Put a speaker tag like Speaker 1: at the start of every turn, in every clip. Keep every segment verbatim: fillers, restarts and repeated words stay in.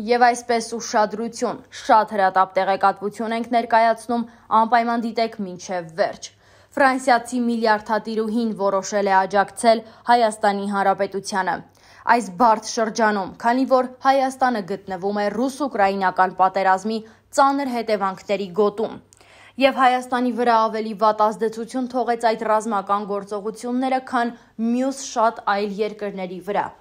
Speaker 1: Եվ այսպես ուշադրություն, շատ հրատապ տեղեկատվություն ենք ներկայացնում, անպայման դիտեք մինչև վերջ։ Ֆրանսիացի միլիարդատիրուհին որոշել է աջակցել Հայաստանի Հանրապետությանը։ Այս բարդ շրջանում, քանի որ Հայաստանը գտնվում է ռուս-ուկրաինական պատերազմի ծանր հետևանքների գոտում, եւ Հայաստանի վրա ավելի վատ ազդեցություն թողեց այդ ռազմական գործողությունները, քան մյուս շատ այլ երկրների վրա։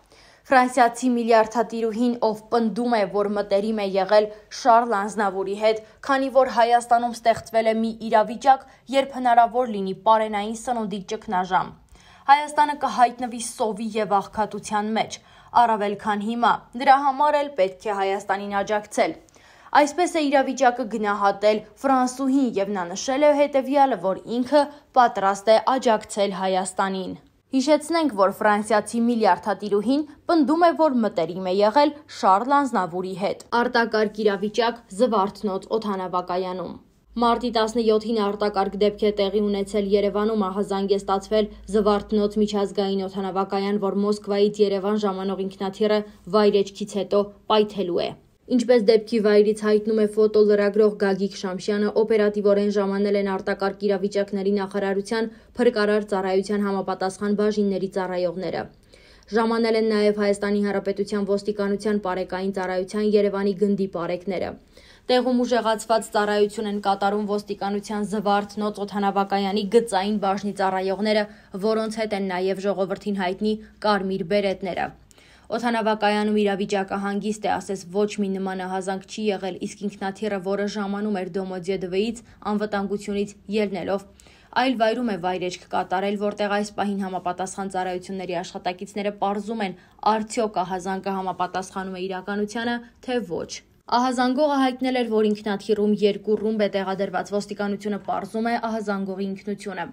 Speaker 1: Ֆրանսիացի միլիարդատիրուհին, ով պնդում է, որ մտերիմ է եղել Շարլ Ազնավուրի հետ, քանի որ Հայաստանում ստեղծվել է մի իրավիճակ, երբ հնարավոր լինի պարենային սնունդի ճգնաժամ։ Հայաստանը կհայտնվի սովի եւ աղքատության մեջ, առավել քան հիմա, դրա համար էլ պետք է Հայաստանին աջակցել։ Այսպես է իրավիճակը գնահատել ֆրանսուհին եւ նա նշել է հետեւյալը, որ ինքը պատրաստ է աջակցել Հայաստանին։ Հիշեցնենք, որ ֆրանսիացի միլիարդատիրուհին պնդում է, որ մտերիմ է եղել Շարլ Ազնավուրի հետ։ Արտակարգ իրավիճակ Զվարթնոց օդանավակայանում։ Մարտի տասնյոթին արտակարգ դեպք է տեղի ունեցել Երևանում, ահազանգ է ստացվել Զվարթնոց միջազգային օդանավակայան, որ Մոսկվայից Երևան ժամանող ինքնաթիռը վայրեջքից հետո պայթելու է։ Ինչպես դեպքի վայրից հայտնում է ֆոտոլրագրող Գագիկ Շամշյանը, օպերատիվորեն ժամանել են արտակարգ իրավիճակների նախարարության փրկարար ծառայության համապատասխան բաժինների ծառայողները։ Ժամանել են նաև Հայաստանի Հանրապետության ոստիկանության պարեկային ծառայության Երևանի գնդի պարեկները։ Տեղում ուժեղացված ծառայություն են կատարում ոստիկանության Զվարթնոց օդանավակայանի գծային բաժնի ծառայողները, որոնց հետ են նաև ժողովրդին հայտնի կարմիր բերետները։ Օդանավակայանում իրավիճակը հանգիստ է, ասես ոչ մի նման ահազանգ չի եղել, իսկ ինքնաթիռը, որը ժամանում էր Դոմոդեդովից անվտանգությունից ելնելով, այլ վայրում է վայրեջք կատարել, որտեղ այս պահին համապատասխան ծառայությունների աշխատակիցները պարզում են, արդյոք ահազանգը համապատասխանում է իրականությանը, թե ոչ։ Ահազանգողը հայտնել էր, որ ինքնաթիռում երկու ռումբ է տեղադրված, ոստիկանությունը պարզում է ահազանգողի ինքնությունը։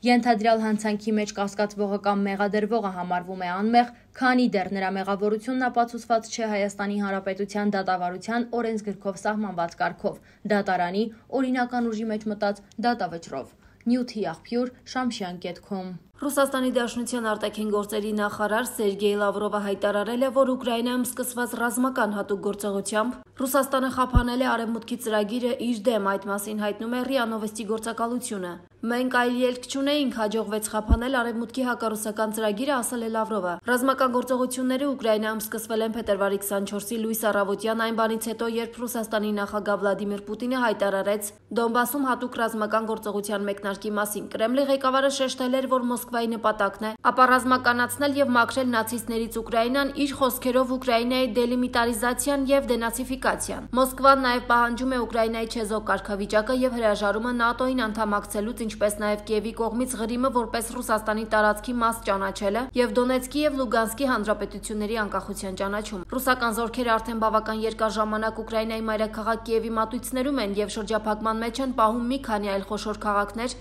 Speaker 1: Ենթադրյալ հանցանքի մեջ կասկածվողը կամ մեղադրվողը համարվում է անմեղ, քանի դեռ նրա մեղավորությունն ապացուցված չէ Հայաստանի Հանրապետության դատավարության օրենսգրքով սահմանված կարգով, դատարանի օրինական ուժի մեջ մտած դատավճռով։ Նյութի աղբյուր Շամշյան կետ քոմ։
Speaker 2: Ռուսաստանի Դաշնության արտաքին գործերի նախարար Սերգեյ Լավրովը հայտարարել է, որ Ուկրաինայում սկսված ռազմական հատուկ գործողությամբ Ռուսաստանը խափանել է Արևմուտքի ծրագիրը իր դեմ, այդ մասին հայտնում է ՌԻԱ Նովոստի գործակալությունը։ Մենք այլ ելք չունեինք, հաջողվեց խափանել Արևմուտքի հակառուսական ծրագիրը, ասել է Լավրովը։ Ռազմական գործողությունները Ուկրաինայում սկսվել են փետրվարի քսանչորսի լույս առավոտյան, այն բանից հետո, երբ Ռուսաստանի նախագահ Վլադիմիր Պուտինը հայտարարեց Դոնբասում հատուկ ռազմական գործողության մեկնարկի մասին։ Կրեմլի ղեկավարը շեշտել էր, որ Մոսկվայի նպատակն է ապա ռազմականացնել եւ մաքրել նացիստներից Ուկրաինան, իր խոսքերով Ուկրաինայի դելիմիտարիզացիան եւ դենացիֆիկացիան։ Մոսկվան նաեւ պահանջում է Ուկրաինայի չեզոք կարգավիճակը եւ հրաժարումը ՆԱՏՕ-ին անդամակցելուց, ինչպես նաև Կիևի կողմից Ղրիմը որպես Ռուսաստանի տարածքի մաս ճանաչելը եւ Դոնեցկի եւ Լուգանսկի հանրապետությունների անկախության ճանաչում։ Ռուսական զորքերը արդեն բավական երկար ժամանակ Ուկրաինայի մայրաքաղաք Կիևի մատույցներում են եւ շրջափակման մեջ են պահում մի քանի այլ խոշոր քաղաքներ,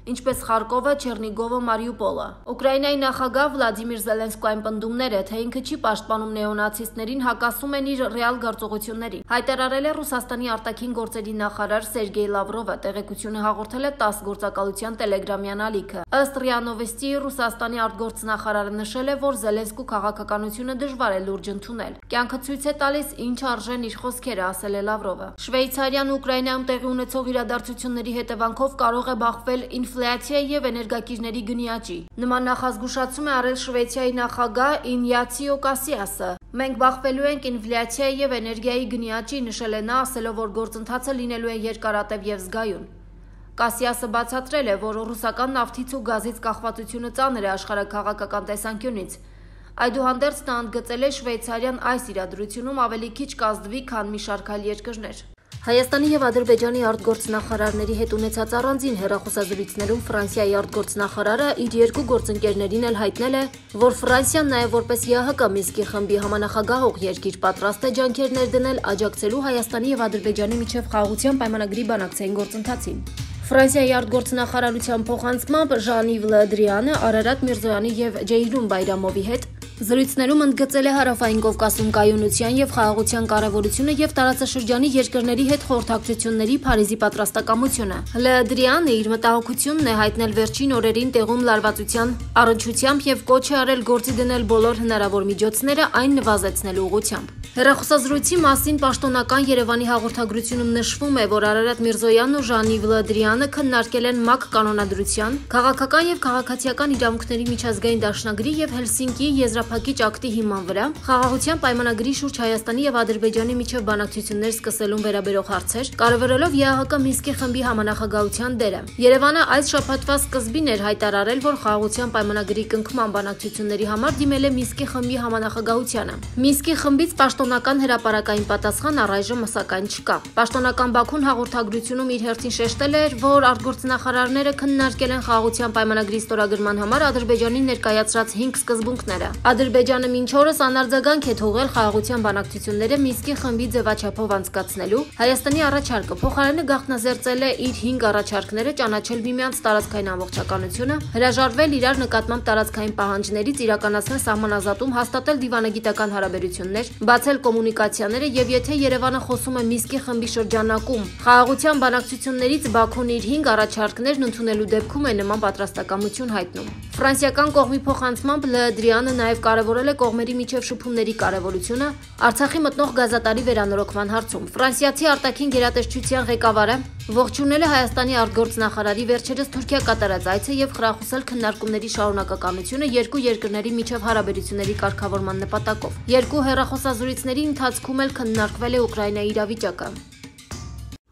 Speaker 2: ինչպես Խարկովը, Չեռնիգովը, Մարիուպոլը։ Ուկրաինայի նախագահ Վլադիմիր Զելենսկոյին պնդումներ է, թե ինքը չի պաշտպանում նեոնացիստներին, հակասում են իր ռեալ գործողություններին։ Հայտարարել է Ռուսաստանի արտաքին գործերի նախարար Սերգեյ Լավրովը, տեղեկությունը հաղորդել է ՏԱՍՍ գործակալության տելեգրամյան ալիքը։ Ըստ ՌԻԱ Նովոստի, Ռուսաստանի արտգործնախարարը նշել է, որ Զելենսկու քաղաքականությունը դժվար է լուրջ ընդունել։ Կյանքը ցույց է տալիս, ինչ արժեն իր խոսքերը, ասել է Լավրովը։ Շվեյցարիան Ուկրաինայում տեղի ունեցող իրադարձությունների հետևանքով կարող է բախվել ինֆլյացիայի եւ էներգակիրների գնի աճի։ Նման նախազգուշացում է արել Շվեյցիայի նախագահ Ինյացիո Կասիասը։ Մենք բախվելու ենք ինֆլյացիայի եւ էներգիայի գնի աճի, նշել է նա, ասելով, որ գործընթացը լինելու է երկարատև եւ զգայուն։ Կասիասը բացատրել է, որ ռուսական նավթից ու գազից կախվածությունը ծանր է աշխարհաքաղաքական տեսանկյունից։ Այդուհանդերձ նա ընդգծել է Շվեյցարիան այս իրադրությունում ավելի քիչ կազդվի, քան մի շարք այլ երկրներ։ Հայաստանի եւ Ադրբեջանի արտգործնախարարների հետ ունեցած առանձին հեռախոսազրույցներում Ֆրանսիայի արտգործնախարարը իր երկու գործընկերներին էլ հայտնել է, որ Ֆրանսիան նաեւ որպես ԵԱՀԿ Մինսկի խմբի համանախագահող երկիր պատրաստ է ջանքեր ներդնել աջակցելու Հայաստանի եւ Ադրբեջանի միջև խաղաղության պայմանագրի բանակցային գործընթացին։ Ֆրանսիայի արտգործնախարարության փոխանցմամբ Ժան-Իվ Լը Դրիանը Արարատ Միրզոյանի եւ Ջեյլուն Բայրամովի հետ զրույցներում ընդգծել է Հարավային Կովկասում կայունության եւ խաղաղության կարեւորությունը եւ տարածաշրջանի երկրների հետ խորհրդակցությունների Փարիզի պատրաստակամությունը։ Լը Դրիանը իր մտահոգությունն է հայտնել վերջին օրերին տեղում լարվածության առնչությամբ եւ կոչ է արել գործի դնել բոլոր հնարավոր միջոցները այն նվազեցնելու ուղղությամբ։ Հեռախոսազրույցի մասին պաշտոնական Երևանի հաղորդագրությունում նշվում է, որ Արարատ Միրզոյանն ու Ժանիվ Լադրյանը քննարկել են ՄԱԿ կանոնադրության, քաղաքական եւ քաղաքացիական իրավունքների միջազգային դաշնագրի եւ Հելսինկիի եզրափակիչ ակտի հիման վրա խաղաղության պայմանագրի շուրջ Հայաստանի եւ Ադրբեջանի միջև բանակցություններ սկսելուն վերաբերող հարցեր, կարևորելով ԵԱՀԿ Մինսկի խմբի համանախագահության դերը։ Երևանը այս շաբաթվա սկզբին էր հայտարարել, որ խաղաղության պայմանագրի կնքման բանակցությունների համար դիմել է Մինսկի խմբի համանախագահությանը։ Մինսկի խմբից պաշտոնական հրապարակային պատասխան առայժմ սակայն չկա։ Պաշտոնական Բաքուն հաղորդագրությունում իր հերթին շեշտել էր, որ արտգործնախարարները քննարկել են խաղաղության պայմանագրի ստորագրման համար Ադրբեջանի ներկայացրած հինգ սկզբունքները։ Ադրբեջանը մինչ օրս անարձագանք է թողել խաղաղության բանակցությունները Մինսկի խմբի ձևաչափով անցկացնելու։ Հայաստանի առաջարկը փոխարենը գաղտնազերծել է իր հինգ առաջարկները ճանաչել միմյանց տարածքային ամբողջականությունը, հրաժարվել իրար նկատմամբ տարածքային պահանջներից, իրականացնել սահմանազատում, հաստատել դիվանագիտական հարաբերություններ, բացել կոմունիկացիաները եւ եթե Երևանը խոսում է Մինսկի խմբի շրջանակում խաղաղության բանակցություններից Բաքուն իր հինգ առաջարկներն ընդունելու դեպքում է նման պատրաստակամություն հայտնում։ Ֆրանսիական կողմի փոխանցմամբ Լադրյանը նաեւ կարևորել է կողմերի միջև շփումների կարևորությունը Արցախի մտնող գազատարի վերանորոգման հարցում։ Ֆրանսիացի արտաքին գերատեսչության ղեկավարը ողջունել է Հայաստանի արտգործնախարարի վերջերս Թուրքիա կատարած այցը եւ խրախուսել քննարկումների շարունակականությունը երկու երկրների միջև հարաբերությունների կարգավորման նպատակով։ Երկու հեռախոսազրույցների ընթացքում էլ քննարկվել է Ուկրաինայի իրավիճակը։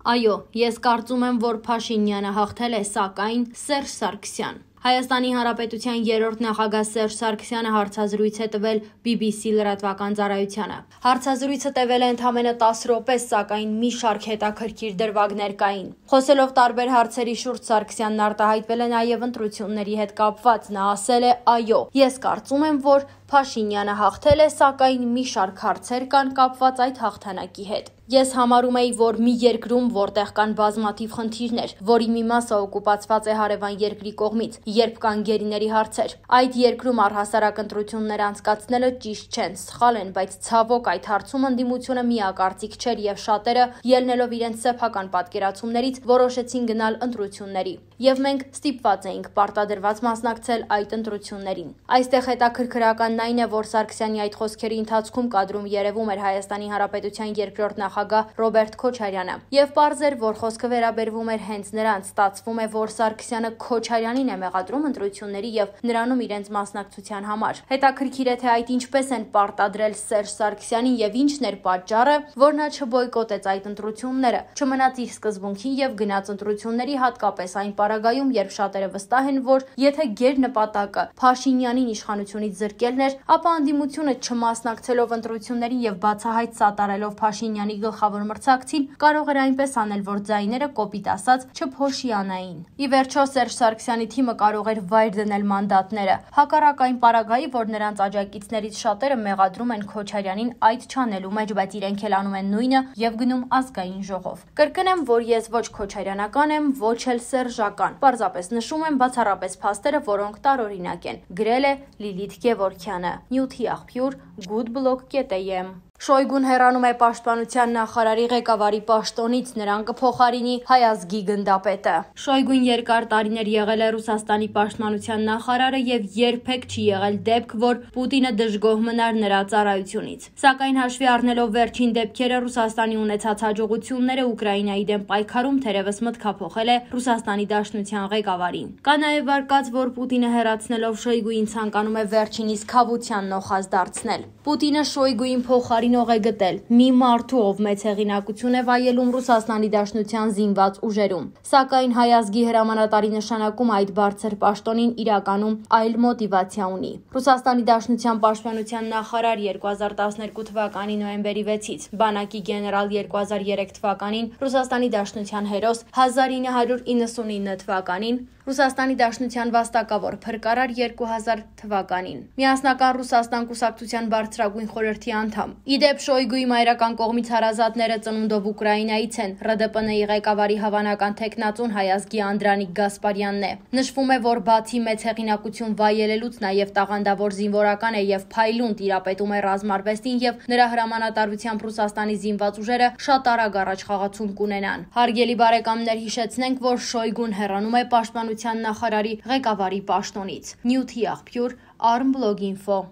Speaker 1: Այո, ես կարծում եմ, որ Փաշինյանը հաղթել է, սակայն Սերժ Սարգսյան։ Հայաստանի Հանրապետության երրորդ նախագահ Սերժ Սարգսյանը հարցազրույց է տվել բի բի սի լրատվական ծառայությանը։ Հարցազրույցը տևել է ընդամենը տասը րոպե, սակայն մի շարք հետաքրքիր դրվագներ կային։ Խոսելով տարբեր հարցերի շուրջ Սարգսյանն արտահայտվել է նաև ընտրությունների հետ կապված։ Նա ասել է. «Այո, ես կարծում եմ, որ Փաշինյանը հաղթել է, սակայն մի շարք հարցեր կան կապված այդ հաղթանակի հետ։ Ես համարում էի, որ մի երկրում, որտեղ կան բազմաթիվ խնդիրներ, որի մի մասը օկուպացված է հարևան երկրի կողմից, երբ կան գերիների հարցեր, այդ երկրում առհասարակ ընտրություններ անցկացնելը ճիշտ չեն, սխալ են, բայց ցավոք այդ հարցում ընդդիմությունը միակարծիք չէր եւ շատերը, ելնելով իրենց սեփական պատկերացումներից, որոշեցին գնալ ընտրությունների։ Եվ մենք ստիպված էինք պարտադրված մասնակցել այդ ընտրություններին»։ Այստեղ հետաքրքրականն այն է, որ Սարգսյանի այդ խոսքերի ընթացքում կադրում երևում էր Հայաստանի Հանրապետության երկրորդ նախագահ Ռոբերտ Քոչարյանը։ Եվ պարզ էր, որ խոսքը վերաբերվում էր հենց նրան։ Ստացվում է, որ Սարգսյանը Քոչարյանին է մեղադրում ընտրությունների եւ նրանում իրենց մասնակցության համար։ Հետաքրքիր է, թե այդ ինչպես են պարտադրել Սերժ Սարգսյանին եւ ինչն էր պատճառը, որ նա չբոյկոտեց այդ ընտրությունները, չմնաց իր սկզբունքին եւ գնաց ընտրությունների, հատկապես այն պարագայում, երբ շատերը վստահ են, որ եթե գեր նպատակը Փաշինյանին իշխանությունից զրկելն էր, ապա անդիմությունը չմասնակցելով ընտրություններին եւ բացահայտ սատարելով Փաշինյանի գլխավոր մրցակցին, կարող էր այնպես անել, որ ձայները կոպիտ ասած չփոշիանային։ Ի վերջո Սերժ Սարգսյանի թիմը կարող էր վայր դնել մանդատները, հակառակ այն պարագայի, որ նրանց աջակիցներից շատերը մեղադրում են Քոչարյանին այդ չանելու մեջ, բայց իրենք էլ անում են նույնը եւ գնում ազգային ժողով։ Կրկնեմ, որ ես ոչ քոչարյանական եմ, ոչ էլ սերժական։ Պարզապես նշում եմ բացառապես փաստերը, որոնք տարօրինակ են։ Գրել է Լիլիթ Գևորգյանը։ Նյութի աղբյուր Goodblock կետ էյ էմ։ Շոյգուն հեռանում է պաշտպանության նախարարի ղեկավարի պաշտոնից, նրան կփոխարինի Հայ ազգի գնդապետը։ Շոյգուն երկար տարիներ եղել է Ռուսաստանի պաշտպանության նախարարը եւ երբեք չի եղել դեպք, որ Պուտինը դժգոհ մնար նրա ծառայությունից։ Սակայն հաշվի առնելով վերջին դեպքերը, Ռուսաստանի ունեցած հաջողությունները Ուկրաինայի դեմ պայքարում թերևս մտքափոխել է Ռուսաստանի Դաշնության ղեկավարին։ Կա նաեւ վարկած, որ Պուտինը հեռացնելով Շոյգուին ցանկանում է վերջինիս քավության նոխազ դարձնել։ Պուտինը Շոյգուին փոխարինող է գտել մի մարդու, ով մեծ հեղինակություն է վայելում Ռուսաստանի Դաշնության զինված ուժերում։ Սակայն Հայ ազգի հրամանատարի նշանակում այդ բարձր պաշտոնին իրականում այլ մոտիվացիա ունի։ Ռուսաստանի Դաշնության պաշտպանության նախարար երկու հազար տասներկու թվականի նոյեմբերի վեցից, բանակի գեներալ երկու հազար երեք թվականին, Ռուսաստանի Դաշնության հերոս հազար ինը հարյուր իննսունինը թվականին, Ռուսաստանի Դաշնության վաստակավոր փրկարար երկու հազար թվականին։ Միասնական Ռուսաստան կուսակցության բարձրագույն խորհրդի անդամ։ Իդեպ Շոյգուի մայրական կողմից հարազատները ծնունդով Ուկրաինայից են։ ՌԴՊՆ-ի ղեկավարի հավանական թեկնածուն Հայ ազգի Անդրանիկ Գասպարյանն է։ Նշվում է, որ բացի մեծ հեղինակություն վայելելուց նաև տաղանդավոր զինվորական է եւ փայլուն տիրապետում է ռազմարվեստին եւ նրա հրամանատարությամբ Ռուսաստանի զինված ուժերը շատ արագ առաջ խաղացում կունենան։ Հարգելի բարեկամներ, հիշեցնենք, որ Շոյգուն հեռանում է պաշտպանության նախարարի ղեկավարի պաշտոնից։ Նյութի աղբյուր Armblog Info։